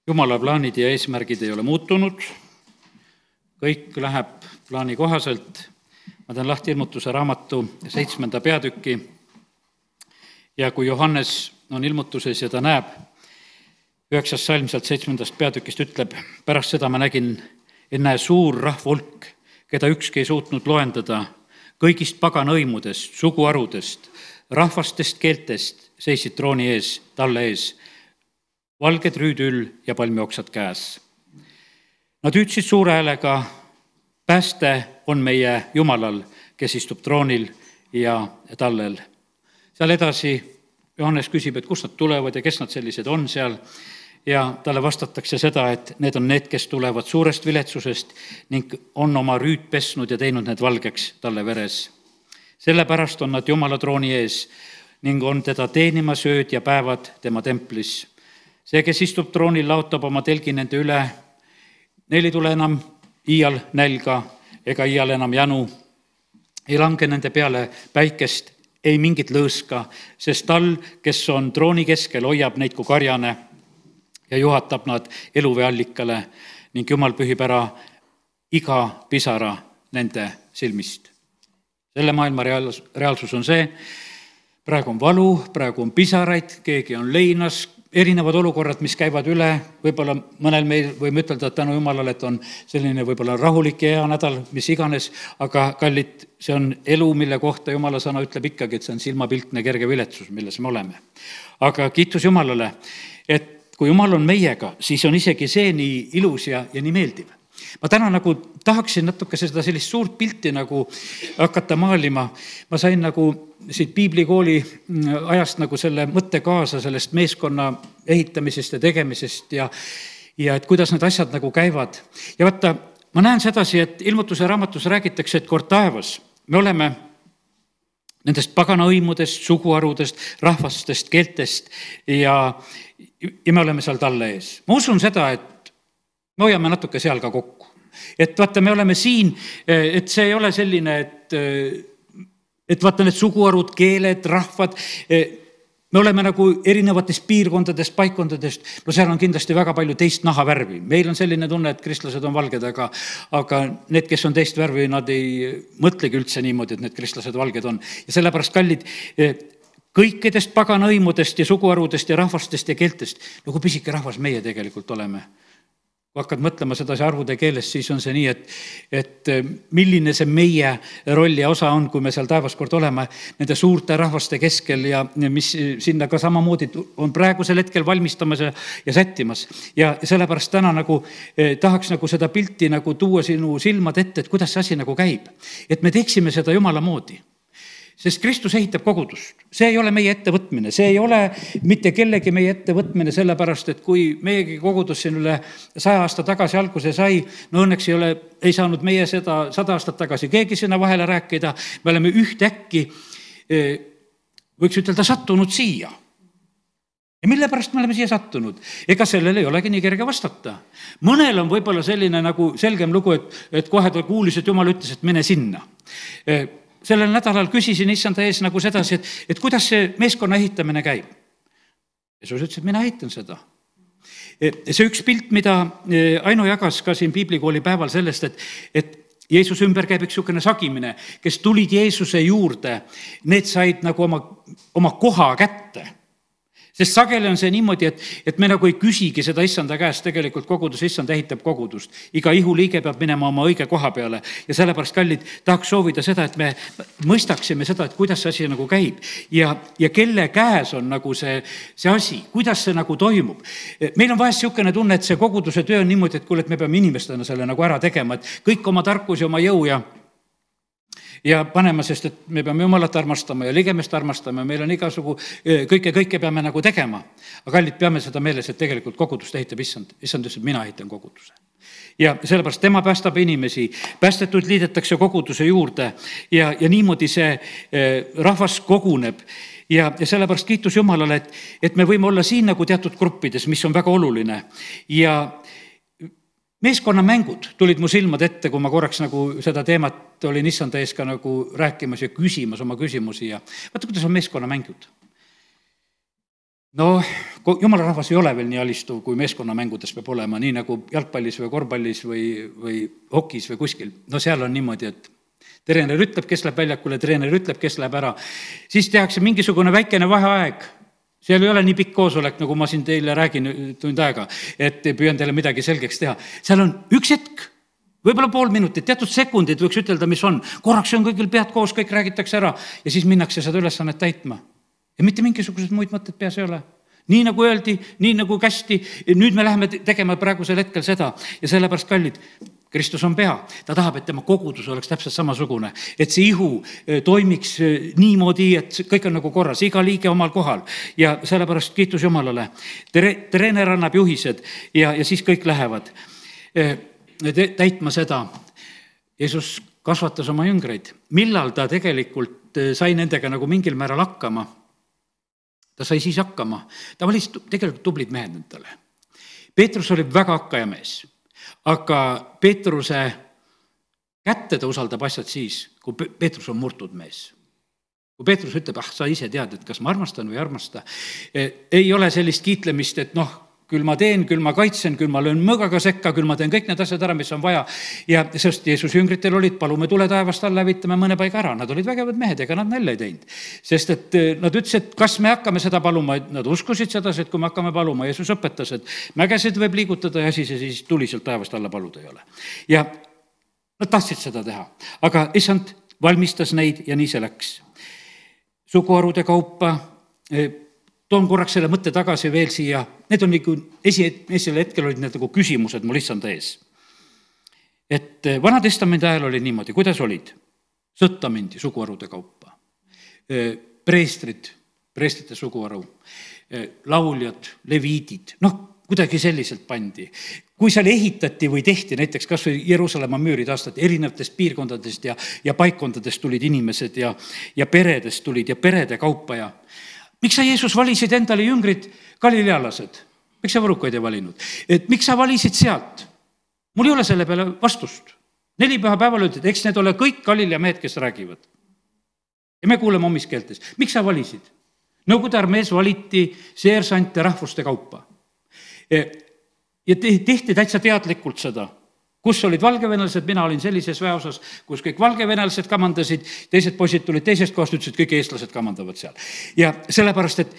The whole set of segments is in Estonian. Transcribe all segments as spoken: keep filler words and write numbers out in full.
Jumala plaanid ja eesmärgid ei ole muutunud, kõik läheb plaani kohaselt. Ma teen lahti ilmutuse raamatu seitsmenda peatüki ja kui Johannes on ilmutuses ja ta näeb, üheksas salm sealt seitsmendast peatükist ütleb, pärast seda ma nägin, enne suur rahvahulk, keda ükski ei suutnud loendada, kõigist pagana hõimudest, suguharudest, rahvastest, keeltest seisid trooni ees, talle ees, valged rüüdül ja palmioksad käes. Nad hüüdsid suure häälega, pääste on meie Jumalal, kes istub troonil ja tallel. Seal edasi Johannes küsib, et kust nad tulevad ja kes nad sellised on seal. Ja talle vastatakse seda, et need on need, kes tulevad suurest viletsusest ning on oma rüüd pesnud ja teinud need valgeks talle veres. Sellepärast on nad Jumala trooni ees ning on teda teenimas ööd ja päevad tema templis. See, kes istub troonil, laotab oma telgi nende üle. Neil ei tule enam iial nälga ega iial enam janu. Ei lange nende peale päikest, ei mingit lõõska, sest tal, kes on trooni keskel, hoiab neid kui karjane ja juhatab nad eluvee allikale ning Jumal pühib ära iga pisara nende silmist. Selle maailma reaalsus on see, praegu on valu, praegu on pisaraid, keegi on leinas, erinevad olukorrad, mis käivad üle, võib-olla mõnel meil võime ütelda, et tänu Jumalale, et on selline võib-olla rahulik ja hea nädal, mis iganes, aga kallid, see on elu, mille kohta Jumala sõna ütleb ikkagi, et see on silmapiltne kerge viletsus, milles me oleme. Aga kiitus Jumalale, et kui Jumal on meiega, siis on isegi see nii ilus ja, ja nii meeldiv. Ma täna nagu tahaksin natuke seda sellist suurt pilti nagu hakata maalima. Ma sain nagu siit piiblikooli ajast nagu selle mõtte kaasa sellest meeskonna ehitamisest ja tegemisest ja, ja et kuidas need asjad nagu käivad. Ja vaata, ma näen sedasi, et ilmutuse raamatus räägitakse, et kord taevas me oleme nendest pagana hõimudest, suguharudest, rahvastest, keeltest ja, ja me oleme seal talle ees. Ma usun seda, et me hoiame natuke seal ka kokku. Et vaata, me oleme siin, et see ei ole selline, et, et vaata need suguharud, keeled, rahvad, me oleme nagu erinevatest piirkondadest, paikkondadest, no seal on kindlasti väga palju teist nahavärvi. Meil on selline tunne, et kristlased on valged, aga, aga need, kes on teist värvi, nad ei mõtlegi üldse niimoodi, et need kristlased valged on. Ja sellepärast kallid, kõikidest pagana hõimudest ja suguharudest ja rahvastest ja keeltest, nagu pisike rahvas meie tegelikult oleme. Kui hakkad mõtlema sedasi arvude keeles, siis on see nii, et, et milline see meie roll ja osa on, kui me seal taevas kord oleme nende suurte rahvaste keskel ja mis sinna ka samamoodi on praegusel hetkel valmistamas ja, ja sättimas. Ja sellepärast täna nagu eh, tahaks nagu seda pilti nagu tuua sinu silmad ette, et kuidas see asi nagu käib. Et me teeksime seda Jumala moodi. Sest Kristus ehitab kogudust. See ei ole meie ettevõtmine, see ei ole mitte kellegi meie ettevõtmine, sellepärast, et kui meiegi kogudus siin üle saja aasta tagasi alguse sai, no õnneks ei ole, ei saanud meie seda sada aastat tagasi keegi sinna vahele rääkida, me oleme ühtäkki, võiks ütelda, sattunud siia. Ja mille pärast me oleme siia sattunud? Ega sellel ei olegi nii kerge vastata. Mõnel on võib-olla selline nagu selgem lugu, et, et kohe ta kuulis, et Jumal ütles, et mene sinna. Sellel nädalal küsisin issanda ees nagu sedasi, et, et kuidas see meeskonna ehitamine käib. Jeesus ütles, et mina ehitan seda. See üks pilt, mida Aino jagas ka siin piiblikooli päeval sellest, et, et Jeesus ümber käib üks niisugune sagimine, kes tulid Jeesuse juurde, need said nagu oma, oma koha kätte. Sest sageli on see niimoodi, et, et me nagu ei küsigi seda issanda käest, tegelikult kogudus, issand ehitab kogudust. Iga ihuliige peab minema oma õige koha peale ja sellepärast kallid tahaks soovida seda, et me mõistaksime seda, et kuidas see asi nagu käib ja, ja kelle käes on nagu see, see asi, kuidas see nagu toimub. Meil on vahest niisugune tunne, et see koguduse töö on niimoodi, et kuule, et me peame inimestena selle nagu ära tegema, et kõik oma tarkus ja oma jõu ja ja panema, sest et me peame Jumalat armastama ja ligemest armastama ja meil on igasugu, kõike, kõike peame nagu tegema. Aga kallid, peame seda meeles, et tegelikult kogudust ehitab issand. Issand ütles, et mina ehitan koguduse. Ja sellepärast tema päästab inimesi, päästetud liidetakse koguduse juurde ja, ja niimoodi see rahvas koguneb. Ja, ja sellepärast kiitus Jumalale, et, et me võime olla siin nagu teatud gruppides, mis on väga oluline. Ja meeskonnamängud tulid mu silmad ette, kui ma korraks nagu seda teemat olin issanda ees ka nagu rääkimas ja küsimas oma küsimusi ja vaata, kuidas on meeskonnamängud. No jumala rahvas ei ole veel nii alistuv, kui meeskonnamängudes peab olema, nii nagu jalgpallis või korvpallis või, või hokis või kuskil. No seal on niimoodi, et treener ütleb, kes läheb väljakule, treener ütleb, kes läheb ära. Siis tehakse mingisugune väikene vaheaeg. Seal ei ole nii pikk koosolek, nagu ma siin teile räägin tund aega, et püüan teile midagi selgeks teha. Seal on üks hetk, võib-olla pool minutit, teatud sekundid võiks ütelda, mis on. Korraks on kõigil pead koos, kõik räägitakse ära ja siis minnakse seda ülesannet täitma. Ja mitte mingisugused muid mõtted peas ei ole. Nii nagu öeldi, nii nagu kästi, nüüd me läheme tegema praegusel hetkel seda ja sellepärast kallid, Kristus on pea, ta tahab, et tema kogudus oleks täpselt samasugune, et see ihu toimiks niimoodi, et kõik on nagu korras, iga liige omal kohal ja sellepärast kiitus Jumalale. Treener annab juhised ja, ja siis kõik lähevad täitma seda. Jeesus kasvatas oma jüngreid, millal ta tegelikult sai nendega nagu mingil määral hakkama. Ta sai siis hakkama. Ta valis tegelikult tublid mehed endale. Peetrus oli väga hakkaja mees, aga Peetruse kätte ta usaldab asjad siis, kui Peetrus on murtud mees. Kui Peetrus ütleb, ah, sa ise tead, et kas ma armastan või armasta. Ei ole sellist kiitlemist, et noh, küll ma teen, küll ma kaitsen, küll ma löön mõgaga sekka, küll ma teen kõik need asjad ära, mis on vaja. Ja sest Jeesus jüngritel olid, palume tule taevast alla, hävitame mõne paiga ära. Nad olid vägevad mehed, ega nad nälja ei teinud. Sest et nad ütlesid, et kas me hakkame seda paluma, nad uskusid seda, et kui me hakkame paluma, Jeesus õpetas, et mägesid võib liigutada ja siis, ja siis tuli sealt taevast alla paluda ei ole. Ja nad tahtsid seda teha, aga issand valmistas neid ja nii see läks. Suguharude kaupa, toon korraks selle mõtte tagasi veel siia. Need on nagu esi, esil hetkel olid need nagu küsimused mul issand ees. Et Vana Testamendi ajal oli niimoodi, kuidas olid? Sõtta mindi suguharude kaupa. Preestrid, preestrite suguharu, lauljad, leviidid, noh, kuidagi selliselt pandi. Kui seal ehitati või tehti, näiteks kas või Jeruusalemma müürid aastat, erinevatest piirkondadest ja, ja paikkondadest tulid inimesed ja, ja peredest tulid ja perede kaupa ja miks sa, Jeesus, valisid endale jüngrid galilealased? Miks sa võrukaid ei valinud? Et miks sa valisid sealt? Mul ei ole selle peale vastust. Neli püha päeval ütled, eks need ole kõik Galilea mehed, kes räägivad. Ja me kuuleme omis keeltes. Miks sa valisid? Nõukogude armees valiti seersante rahvuste kaupa. Ja tehti täitsa teadlikult seda. Kus olid valgevenelased, mina olin sellises väeosas, kus kõik valgevenelased kamandasid, teised poisid tulid teisest kohast, ütlesid, kõik eestlased kamandavad seal. Ja sellepärast, et,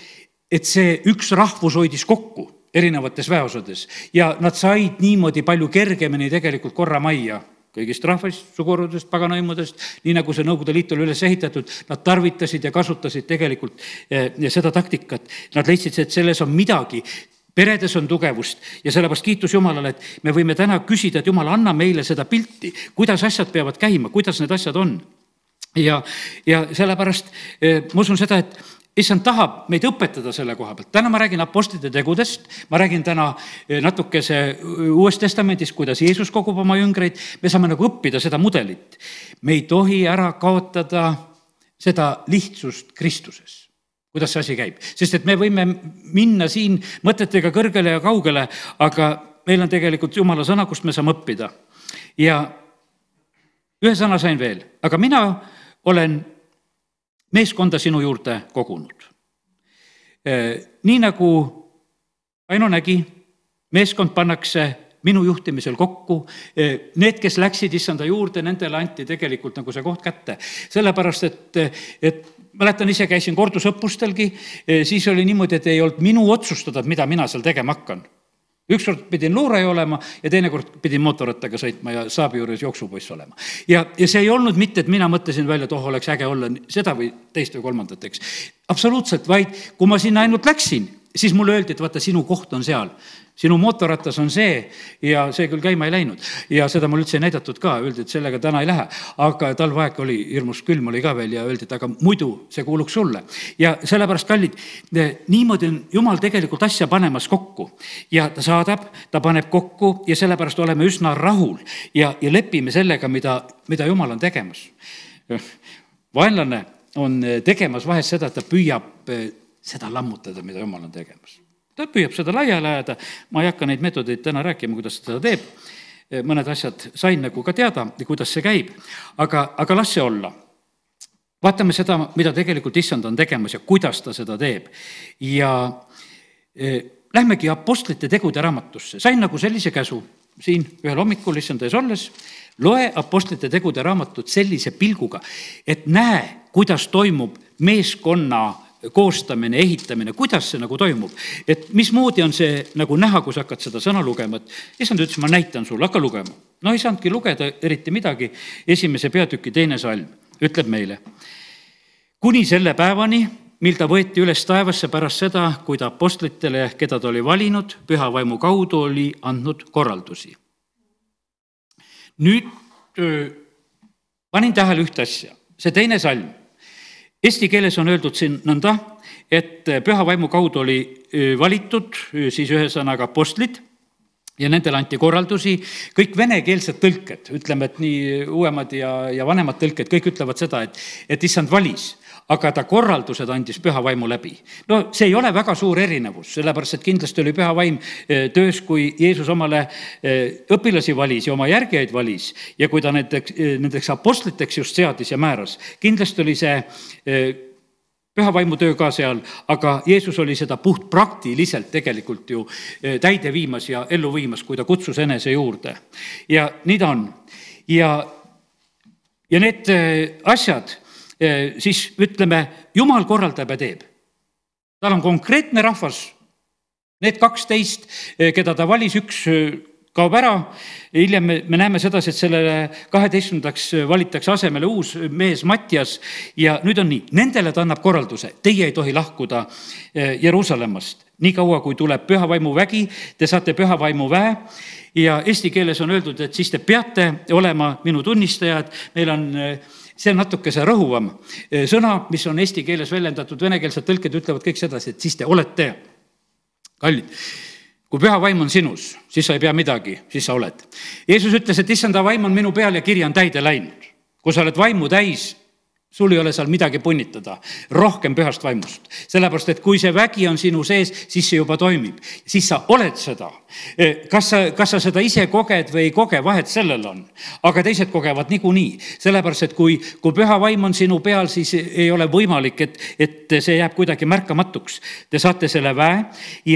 et see üks rahvus hoidis kokku erinevates väeosades ja nad said niimoodi palju kergemini tegelikult korra majja kõigist rahvast, sugurudest, paganaimudest, nii nagu see Nõukogude Liit oli üles ehitatud, nad tarvitasid ja kasutasid tegelikult ja seda taktikat. Nad leidsid, et selles on midagi. Peredes on tugevust ja sellepärast kiitus Jumalale, et me võime täna küsida, et Jumal, anna meile seda pilti, kuidas asjad peavad käima, kuidas need asjad on. Ja, ja sellepärast ma usun seda, et issand tahab meid õpetada selle koha pealt. Täna ma räägin apostlite tegudest, ma räägin täna natukese Uues Testamendis, kuidas Jeesus kogub oma jüngreid. Me saame nagu õppida seda mudelit. Me ei tohi ära kaotada seda lihtsust Kristuses. Kuidas see asi käib. Sest et me võime minna siin mõtetega kõrgele ja kaugele, aga meil on tegelikult Jumala sõna, kust me saame õppida. Ja ühe sõna sain veel, aga mina olen meeskonda sinu juurde kogunud. Nii nagu Aino nägi, meeskond pannakse minu juhtimisel kokku. Need, kes läksid issanda juurde, nendele anti tegelikult nagu see koht kätte. Sellepärast, et, et mäletan, ise käisin kordusõppustelgi, siis oli niimoodi, et ei olnud minu otsustada, mida mina seal tegema hakkan. Ükskord pidin luuraja olema ja teinekord pidin mootorrattaga sõitma ja saabi juures jooksupoiss olema. Ja, ja see ei olnud mitte, et mina mõtlesin välja, et oh, oleks äge olla seda või teist või kolmandat, eks. Absoluutselt, vaid kui ma sinna ainult läksin, siis mulle öeldi, et vaata, sinu koht on seal. Sinu mootorratas on see ja see küll käima ei läinud. Ja seda mul üldse ei näidatud ka, öeldi, et sellega täna ei lähe. Aga talvaeg oli, hirmus külm oli ka veel ja öeldi, et aga muidu see kuuluks sulle. Ja sellepärast, kallid, niimoodi on Jumal tegelikult asja panemas kokku. Ja ta saadab, ta paneb kokku ja sellepärast oleme üsna rahul ja, ja lepime sellega, mida, mida Jumal on tegemas. Vaenlane on tegemas vahest seda, et ta püüab seda lammutada, mida Jumal on tegemas. Ta püüab seda laiali ajada, ma ei hakka neid metodeid täna rääkima, kuidas seda teeb. Mõned asjad sain nagu ka teada, kuidas see käib, aga, aga las see olla. Vaatame seda, mida tegelikult issand on tegemas ja kuidas ta seda teeb. Ja lähmegi apostlite tegude raamatusse. Sain nagu sellise käsu siin ühel hommikul issanda ees olles, loe apostlite tegude raamatut sellise pilguga, et näe, kuidas toimub meeskonna koostamine, ehitamine, kuidas see nagu toimub, et mismoodi on see nagu näha, kui sa hakkad seda sõna lugema, et issand ütles, ma näitan sulle, hakka lugema. No ei saanudki lugeda eriti midagi. Esimese peatüki teine salm ütleb meile, kuni selle päevani, mil ta võeti üles taevasse pärast seda, kui ta apostlitele, keda ta oli valinud, püha vaimu kaudu oli andnud korraldusi. Nüüd panin tähele ühte asja, see teine salm. Eesti keeles on öeldud siin nõnda, et püha vaimu kaudu oli valitud siis ühe sõnaga apostlid ja nendele anti korraldusi. Kõik venekeelsed tõlked, ütleme, et nii uuemad ja, ja vanemad tõlked, kõik ütlevad seda, et, et issand valis, aga ta korraldused andis püha vaimu läbi. No see ei ole väga suur erinevus, sellepärast, et kindlasti oli püha vaim töös, kui Jeesus omale õpilasi valis ja oma järgijaid valis ja kui ta nendeks, nendeks apostliteks just seadis ja määras. Kindlasti oli see püha vaimu töö ka seal, aga Jeesus oli seda puht praktiliselt tegelikult ju täide viimas ja ellu viimas, kui ta kutsus enese juurde. Ja nii ta on. Ja, ja need asjad, siis ütleme, Jumal korraldab ja teeb. Tal on konkreetne rahvas, need kaksteist, keda ta valis, üks kaob ära. Hiljem me, me näeme sedasi, et sellele kaheteistkümnendaks valitakse asemele uus mees Mattias ja nüüd on nii, nendele ta annab korralduse, teie ei tohi lahkuda Jeruusalemmast. Nii kaua, kui tuleb püha vaimu vägi, te saate püha vaimu väe ja eesti keeles on öeldud, et siis te peate olema minu tunnistajad. Meil on see on natuke see rõhuvam sõna, mis on eesti keeles väljendatud, venekeelsed tõlked ütlevad kõik sedasi, et siis te olete kallid. Kui püha vaim on sinus, siis sa ei pea midagi, siis sa oled. Jeesus ütles, et issanda vaim on minu peal ja kiri on täide läinud. Kui sa oled vaimu täis, sul ei ole seal midagi punnitada, rohkem pühast vaimust. Sellepärast, et kui see vägi on sinu sees, siis see juba toimib. Siis sa oled seda. Kas sa, kas sa seda ise koged või ei koge, vahet sellel on. Aga teised kogevad niikuinii. Sellepärast, et kui, kui püha vaim on sinu peal, siis ei ole võimalik, et, et see jääb kuidagi märkamatuks. Te saate selle väe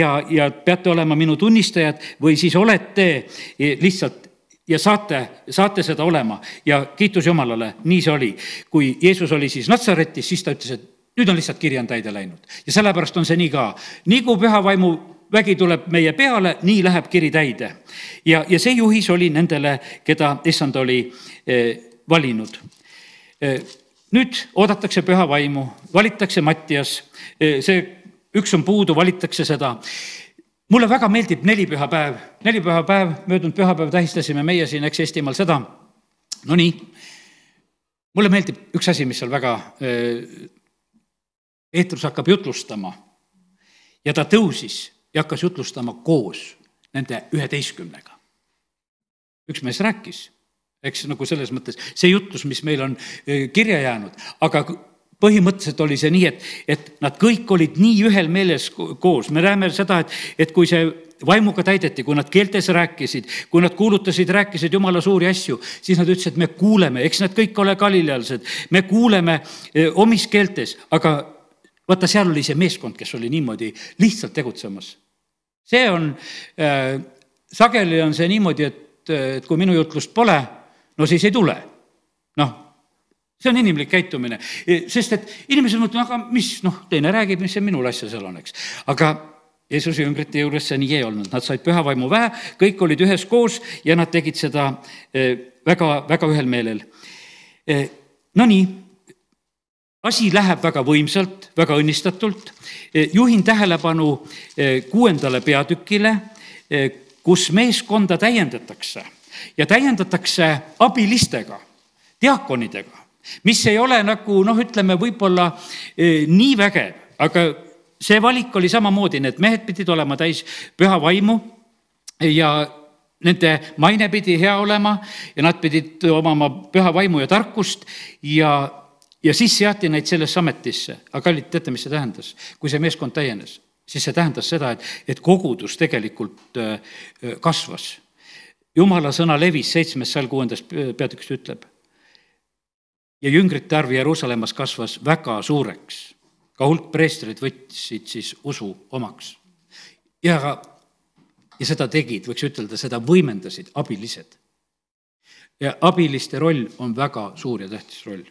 ja, ja peate olema minu tunnistajad või siis olete lihtsalt ja saate, saate seda olema ja kiitus Jumalale, nii see oli. Kui Jeesus oli siis Natsaretis, siis ta ütles, et nüüd on lihtsalt kiri on täide läinud. Ja sellepärast on see nii ka. Nii kui püha vaimu vägi tuleb meie peale, nii läheb kiri täide. Ja, ja see juhis oli nendele, keda issand oli eh, valinud. Eh, nüüd oodatakse püha vaimu, valitakse Mattias, eh, see üks on puudu, valitakse seda. Mulle väga meeldib nelipühapäev. Nelipühapäev, möödunud pühapäev tähistasime meie siin, eks Eestimaal seda. No nii, mulle meeldib üks asi, mis seal väga Peetrus hakkab jutlustama. Ja ta tõusis ja hakkas jutlustama koos nende üheteistkümnega. Üks mees rääkis, eks nagu selles mõttes see jutlus, mis meil on kirja jäänud, aga põhimõtteliselt oli see nii, et, et nad kõik olid nii ühel meeles koos. Me näeme seda, et, et kui see vaimuga täideti, kui nad keeltes rääkisid, kui nad kuulutasid, rääkisid Jumala suuri asju, siis nad ütlesid, et me kuuleme, eks nad kõik ole galilealsed, me kuuleme omis keeltes, aga vaata, seal oli see meeskond, kes oli niimoodi lihtsalt tegutsemas. See on, äh, sageli on see niimoodi, et, et kui minu jutlust pole, no siis ei tule. Noh, see on inimlik käitumine, sest et inimesed mõtlevad, aga mis, noh, teine räägib, mis see minul asja seal on, eks. Aga Jeesuse jüngrite juures see nii ei olnud. Nad said püha vaimu väe, kõik olid ühes koos ja nad tegid seda väga, väga ühel meelel. No nii, asi läheb väga võimsalt, väga õnnistatult. Juhin tähelepanu kuuendale peatükile, kus meeskonda täiendatakse ja täiendatakse abilistega, diakonidega, mis ei ole nagu, noh, ütleme, võib-olla eh, nii vägev, aga see valik oli samamoodi, need mehed pidid olema täis püha vaimu ja nende maine pidi hea olema ja nad pidid omama püha vaimu ja tarkust ja, ja siis seati neid sellesse ametisse. Aga kallid, teate, mis see tähendas? Kui see meeskond täienes, siis see tähendas seda, et, et kogudus tegelikult eh, kasvas. Jumala sõna levis seitsmes sal kuuendast peatükist ütleb. Ja jüngrite arv Jeruusalemmas kasvas väga suureks. Ka hulk preestrid võtsid siis usu omaks. ja, ja seda tegid, võiks ütelda, seda võimendasid abilised. Ja abiliste roll on väga suur ja tähtis roll.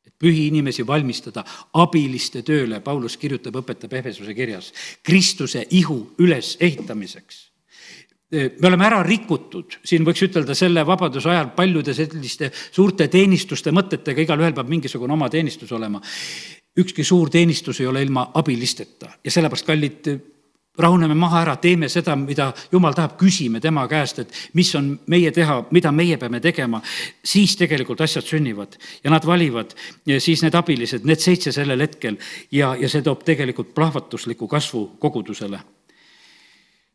Et pühi inimesi valmistada abiliste tööle, Paulus kirjutab, õpetab Efesuse kirjas, Kristuse ihu üles ehitamiseks. Me oleme ära rikutud, siin võiks ütelda selle vabaduse ajal paljude selliste suurte teenistuste mõtetega, igal ühel peab mingisugune oma teenistus olema. Ükski suur teenistus ei ole ilma abilisteta ja sellepärast, kallid, rahuneme maha ära, teeme seda, mida Jumal tahab, küsime tema käest, et mis on meie teha, mida meie peame tegema, siis tegelikult asjad sünnivad ja nad valivad ja siis need abilised, need seitse sellel hetkel ja, ja see toob tegelikult plahvatusliku kasvu kogudusele.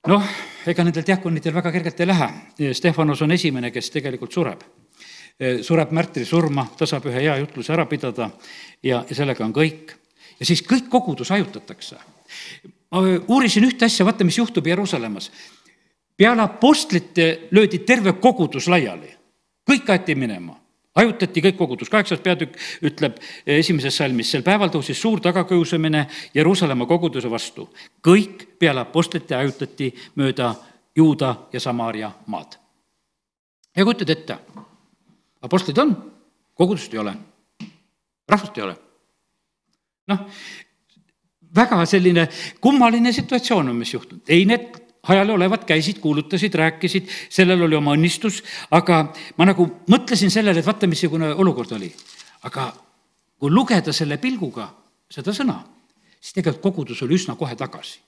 Noh, ega nendel diakonitel väga kergelt ei lähe. Stefanos on esimene, kes tegelikult sureb. Sureb märtri surma, ta saab ühe hea jutluse ära pidada ja, ja sellega on kõik. Ja siis kõik kogudus ajutatakse. Ma uurisin ühte asja, vaata, mis juhtub Jeruusalemmas. Peale apostlite löödi terve kogudus laiali. Kõik aeti minema. Ajutati kõik kogudus. Kaheksas peatükk ütleb esimeses salmis, sel päeval tõusis suur tagakiusamine Jeruusalemma koguduse vastu. Kõik peale apostlite ajutati mööda Juuda ja Samaaria maad. Ja kujutad ette, apostlid on, kogudust ei ole, rahvust ei ole. Noh, väga selline kummaline situatsioon on, mis juhtunud. Ei, need hajale olevad käisid, kuulutasid, rääkisid, sellel oli oma õnnistus, aga ma nagu mõtlesin sellele, et vaata, missugune olukord oli. Aga kui lugeda selle pilguga seda sõna, siis tegelikult kogudus oli üsna kohe tagasi.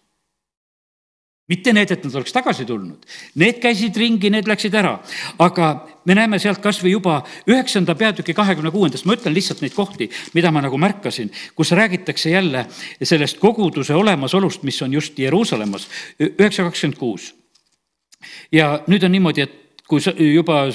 Mitte need, et nad oleks tagasi tulnud. Need käisid ringi, need läksid ära. Aga me näeme sealt kas või juba üheksanda peatüki kahekümne kuuendast, ma ütlen lihtsalt neid kohti, mida ma nagu märkasin, kus räägitakse jälle sellest koguduse olemasolust, mis on just Jeruusalemmas, üheksa kakskümmend kuus. Ja nüüd on niimoodi, et kui juba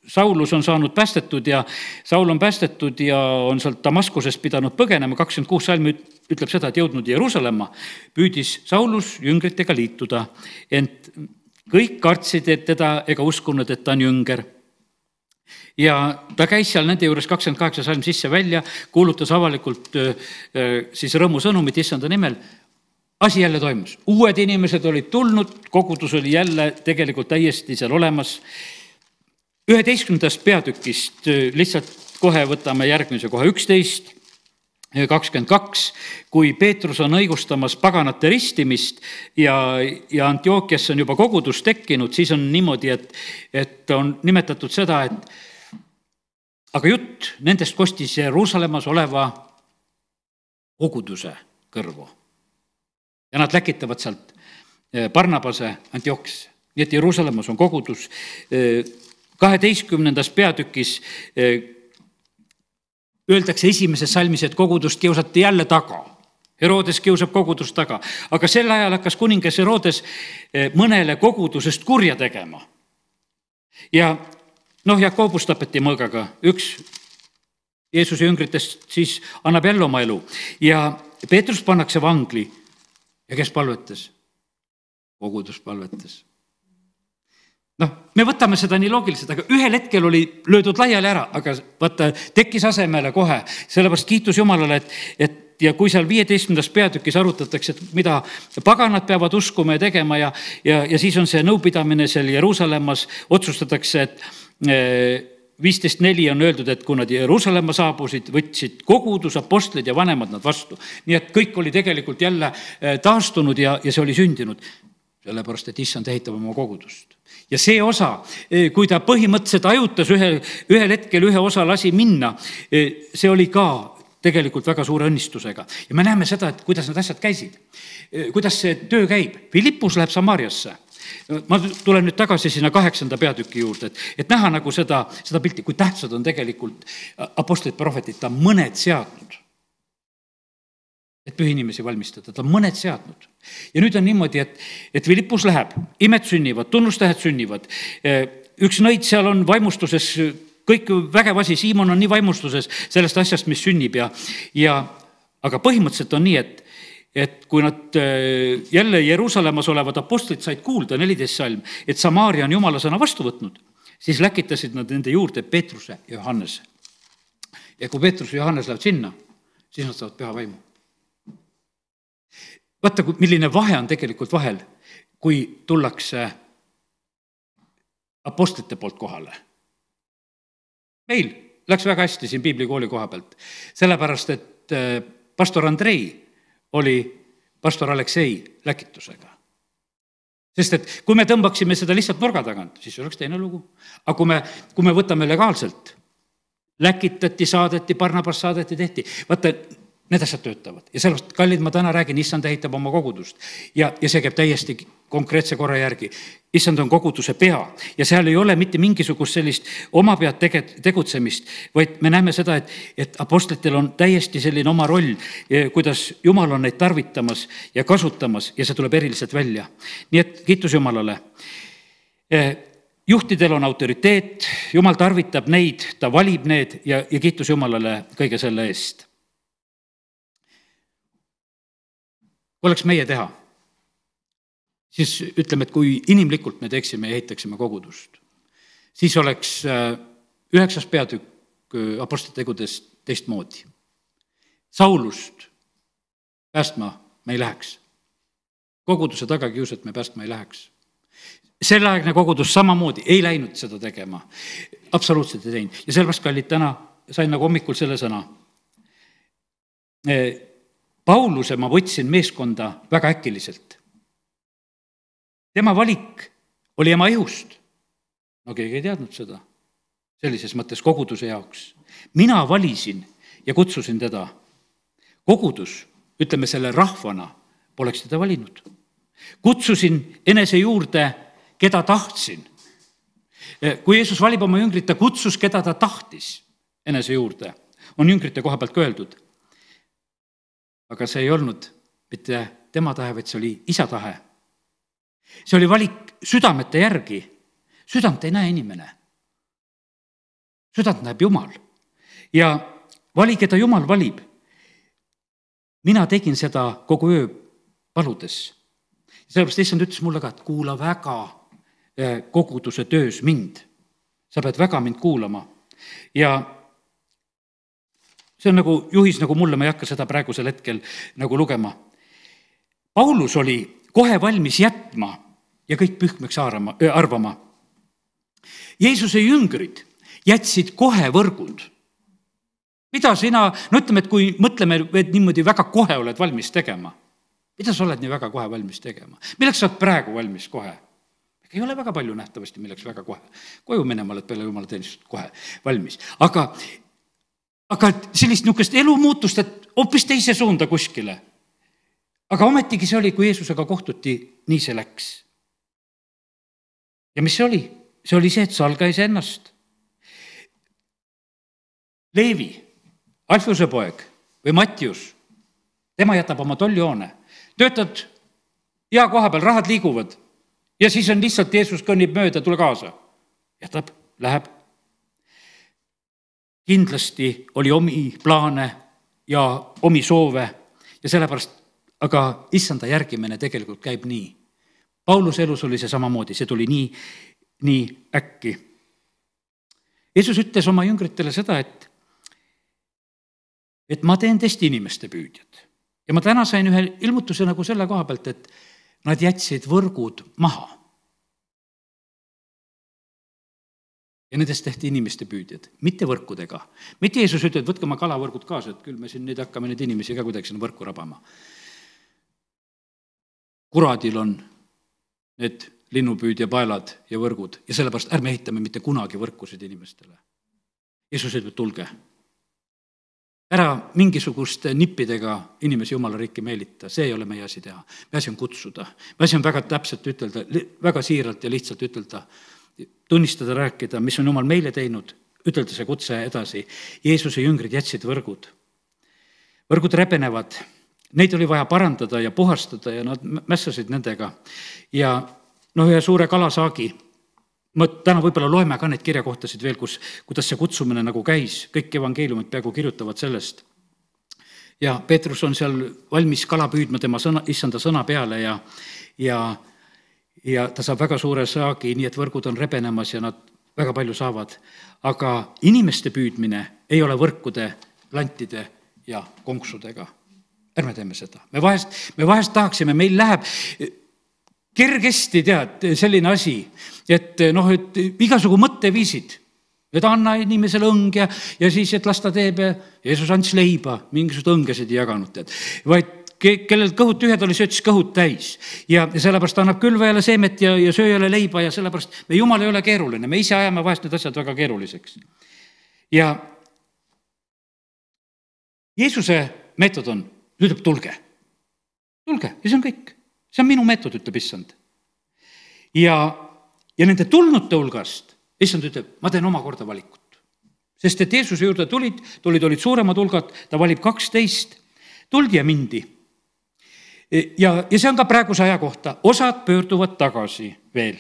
Saulus on saanud päästetud ja Saul on päästetud ja on sealt Damaskusest pidanud põgenema, kakskümmend kuus salmi ütleb seda, et jõudnud Jeruusalemma, püüdis Saulus jüngritega liituda, ent kõik kartsid, et teda ega uskunud, et ta on jünger. Ja ta käis seal nende juures kakskümmend kaheksa salm sisse välja, kuulutas avalikult siis rõõmusõnumit issanda nimel. Asi jälle toimus. Uued inimesed olid tulnud, kogudus oli jälle tegelikult täiesti seal olemas. üheteistkümnendast peatükist lihtsalt kohe võtame järgmise kohe üksteist, kakskümmend kaks, kui Peetrus on õigustamas paganate ristimist ja, ja Antiookias on juba kogudus tekkinud, siis on niimoodi, et, et on nimetatud seda, et aga jutt nendest kostis Jeruusalemmas oleva koguduse kõrvu. Ja nad läkitavad sealt Barnabase Antiookiasse. Nii et Jeruusalemmas on kogudus. kaheteistkümnendas peatükis öeldakse esimeses salmis, et kogudust kiusati jälle taga. Herodes kiusab kogudust taga. Aga sel ajal hakkas kuningas Herodes mõnele kogudusest kurja tegema. Ja noh, Jakobus tapeti mõõgaga. Üks Jeesuse jüngritest siis annab jälle oma elu. Ja Peetrus pannakse vangli. Ja kes palvetas? Kogudus palvetas. Noh, me võtame seda nii loogiliselt, aga ühel hetkel oli löödud laiali ära, aga vaata, tekkis asemele kohe. Sellepärast kiitus Jumalale, et, et ja kui seal viieteistkümnendas peatükis arutatakse, et mida paganad peavad uskuma ja tegema ja, ja, ja siis on see nõupidamine seal Jeruusalemmas, otsustatakse, et viisteist neli on öeldud, et kui nad Jeruusalemma saabusid, võtsid kogudus, apostlid ja vanemad nad vastu. Nii et kõik oli tegelikult jälle taastunud ja, ja see oli sündinud. Sellepärast, et issand ehitab oma kogudust. Ja see osa, kui ta põhimõtteliselt ajutas ühel, ühel hetkel ühe osa lasi minna, see oli ka tegelikult väga suure õnnistusega. Ja me näeme seda, et kuidas need asjad käisid. Kuidas see töö käib. Filippus läheb Samaariasse. Ma tulen nüüd tagasi sinna kaheksanda peatüki juurde, et, et näha nagu seda, seda pilti, kui tähtsad on tegelikult apostlid, prohvetid, ta mõned seadnud, et pühi inimesi valmistada, ta mõned seadnud. Ja nüüd on niimoodi, et, et Filippus läheb, imed sünnivad, tunnustähed sünnivad, üks nõid seal on vaimustuses, kõik vägev asi, Siimon on nii vaimustuses sellest asjast, mis sünnib ja, ja aga põhimõtteliselt on nii, et et kui nad jälle Jeruusalemmas olevad apostlid said kuulda, neliteist salm, et Samaaria on Jumala sõna vastu võtnud, siis läkitasid nad nende juurde Peetruse ja Johannese. Ja kui Peetrus ja Johannes lähevad sinna, siis nad saavad püha vaimu. vaata, milline vahe on tegelikult vahel, kui tullakse apostlite poolt kohale. Meil läks väga hästi siin piiblikooli koha pealt, sellepärast et pastor Andrei oli pastor Aleksei läkitusega. Sest et kui me tõmbaksime seda lihtsalt nurga tagant, siis oleks teine lugu. Aga kui me, kui me võtame legaalselt, läkitati, saadeti, Barnabas saadeti, tehti, vaata, need asjad töötavad. Ja sellest, kallid, ma täna räägin, issand ehitab oma kogudust. Ja, ja see käib täiesti konkreetse korra järgi. Issand on koguduse pea ja seal ei ole mitte mingisugust sellist oma pead tege, tegutsemist, vaid me näeme seda, et, et apostlitel on täiesti selline oma roll, kuidas Jumal on neid tarvitamas ja kasutamas ja see tuleb eriliselt välja. Nii et kiitus Jumalale. Juhtidel on autoriteet, Jumal tarvitab neid, ta valib need ja, ja kiitus Jumalale kõige selle eest. Kui oleks meie teha, siis ütleme, et kui inimlikult me teeksime ja ehitaksime kogudust, siis oleks üheksas peatükk apostlite tegudest teistmoodi. Saulust päästma me ei läheks. Koguduse tagakiusat me päästma ei läheks. Selleaegne kogudus samamoodi ei läinud seda tegema. Absoluutselt ei teinud. Ja sellepärast, kallid, täna sain nagu hommikul selle sõna. Pauluse ma võtsin meeskonda väga äkiliselt. Tema valik oli ema ihust. No keegi ei teadnud seda. Sellises mõttes koguduse jaoks. Mina valisin ja kutsusin teda. Kogudus, ütleme selle rahvana, poleks teda valinud. Kutsusin enese juurde, keda tahtsin. Kui Jeesus valib oma jüngrit, ta kutsus, keda ta tahtis enese juurde. On jüngrite koha pealt öeldud. Aga see ei olnud mitte tema tahe, vaid see oli isa tahe. See oli valik südamete järgi. Südant ei näe inimene. Südant näeb Jumal. Ja vali, keda Jumal valib. Mina tegin seda kogu öö paludes. Sellepärast issand ütles mulle ka, et kuula väga koguduse töös mind. Sa pead väga mind kuulama. Ja see on nagu juhis, nagu mulle, ma ei hakka seda praegusel hetkel nagu lugema. Paulus oli kohe valmis jätma ja kõik pühkmeks arvama. Jeesuse jüngrid jätsid kohe võrgud. Mida sina, no ütleme, et kui mõtleme, et niimoodi väga kohe oled valmis tegema. Mida sa oled nii väga kohe valmis tegema? Milleks sa oled praegu valmis kohe? Ei ole väga palju nähtavasti, milleks väga kohe. Koju minema oled peale Jumala teenistust kohe valmis. Aga Aga sellist niisugust elumuutust, et hoopis teise suunda kuskile. Aga ometigi see oli, kui Jeesusega kohtuti, nii see läks. Ja mis see oli? See oli see, et Saul käis ennast. Leevi, Alfuse poeg või Mattius, tema jätab oma tollihoone. Töötad hea koha peal, rahad liiguvad ja siis on lihtsalt Jeesus kõnnib mööda, tule kaasa. Jätab, läheb. Kindlasti oli omi plaane ja omi soove ja sellepärast, aga issanda järgimine tegelikult käib nii. Pauluse elus oli see samamoodi, see tuli nii, nii äkki. Jeesus ütles oma jüngritele seda, et, et ma teen teist inimeste püüdjad. Ja ma täna sain ühe ilmutuse nagu selle koha pealt, et nad jätsid võrgud maha. Ja nendest tehti inimeste püüdjad, mitte võrkudega. Mitte Jeesus ütleb, et võtke oma kalavõrgud kaasa, et küll me siin nüüd hakkame neid inimesi ka kuidagi sinna võrku rabama. Kuradil on need linnupüüdja paelad ja võrgud ja sellepärast ärme ehitame mitte kunagi võrkusid inimestele. Jeesus ütleb, tulge. Ära mingisuguste nippidega inimesi Jumala riiki meelita, see ei ole meie asi teha. Me asi on kutsuda. Me asi on väga täpselt ütelda, väga siiralt ja lihtsalt ütelda, tunnistada, rääkida, mis on Jumal meile teinud, ütelda see kutse edasi. Jeesuse jüngrid jätsid võrgud. Võrgud rebenevad, neid oli vaja parandada ja puhastada ja nad mässasid nendega. Ja no ühe suure kalasaagi, ma täna võib-olla loeme ka neid kirjakohtasid veel, kus, kuidas see kutsumine nagu käis, kõik evangeeliumid peaaegu kirjutavad sellest. Ja Peetrus on seal valmis kala püüdma tema sõna, issanda sõna peale ja, ja ja ta saab väga suure saagi, nii et võrgud on rebenemas ja nad väga palju saavad. Aga inimeste püüdmine ei ole võrkude, lantide ja konksudega. ärme teeme seda. Me vahest, me vahest tahaksime, meil läheb kergesti, tead, selline asi, et noh, et igasugu mõtteviisid, et anna inimesele õng ja, ja siis, et las ta teeb ja Jeesus andis leiba, mingisugused õngesid ei jaganud, tead, vaid kellel kõhud tühjad oli, söötis kõhud täis ja sellepärast annab külvajale seemet ja, ja sööjale leiba ja sellepärast me Jumal ei ole keeruline, me ise ajame vahest need asjad väga keeruliseks. Ja Jeesuse meetod on, ütleb tulge, tulge ja see on kõik, see on minu meetod, ütleb issand. Ja, ja nende tulnute hulgast issand ütleb, ma teen omakorda valikut, sest et Jeesuse juurde tulid, tulid, olid suuremad hulgad, ta valib kaksteist, tuldi ja mindi. Ja, ja see on ka praeguse aja kohta, osad pöörduvad tagasi veel.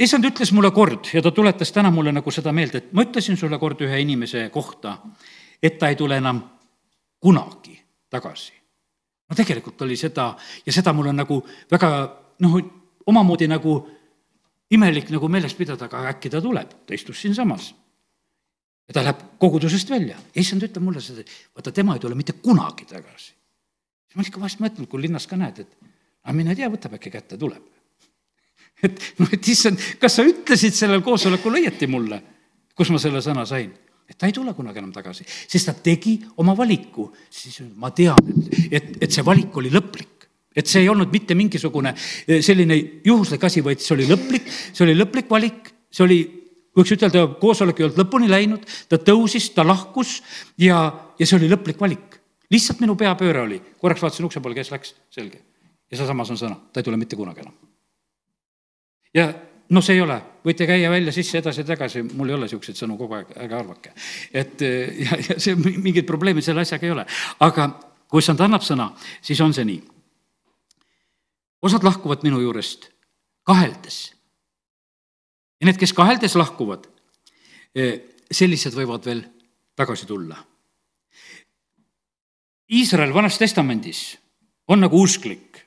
Issand ütles mulle kord ja ta tuletas täna mulle nagu seda meelde, et ma ütlesin sulle kord ühe inimese kohta, et ta ei tule enam kunagi tagasi. No tegelikult oli seda ja seda mul on nagu väga, noh, omamoodi nagu imelik nagu meelest pidada, aga äkki ta tuleb, ta istus siin samas. Ja ta läheb kogudusest välja. Ja issand ütleb mulle seda, vaata tema ei tule mitte kunagi tagasi. Ma ikka vahest mõtlen, kui linnas ka näed, et aga mine tea, võtab äkki kätte, tuleb. Et, no, et issand, kas sa ütlesid sellel koosolekul õieti mulle, kus ma selle sõna sain? Et ta ei tule kunagi enam tagasi, sest ta tegi oma valiku. Siis ma tean, et, et see valik oli lõplik. Et see ei olnud mitte mingisugune selline juhuslik asi, vaid see oli lõplik, see oli lõplik valik, see oli, võiks ütelda, koosolek ei olnud lõpuni läinud, ta tõusis, ta lahkus ja, ja see oli lõplik valik. Lihtsalt minu peapööre oli, korraks vaatasin ukse poole, kes läks, selge. Ja see samas on sõna, ta ei tule mitte kunagi enam. Ja no see ei ole, võite käia välja sisse edasi ja tagasi, mul ei ole siukseid sõnu kogu aeg, ärge arvake. Et ja, ja see mingid probleemid selle asjaga ei ole. Aga kui issand annab sõna, siis on see nii. Osad lahkuvad minu juurest kaheldes. Ja need, kes kaheldes lahkuvad, sellised võivad veel tagasi tulla. Iisrael Vanas Testamendis on nagu usklik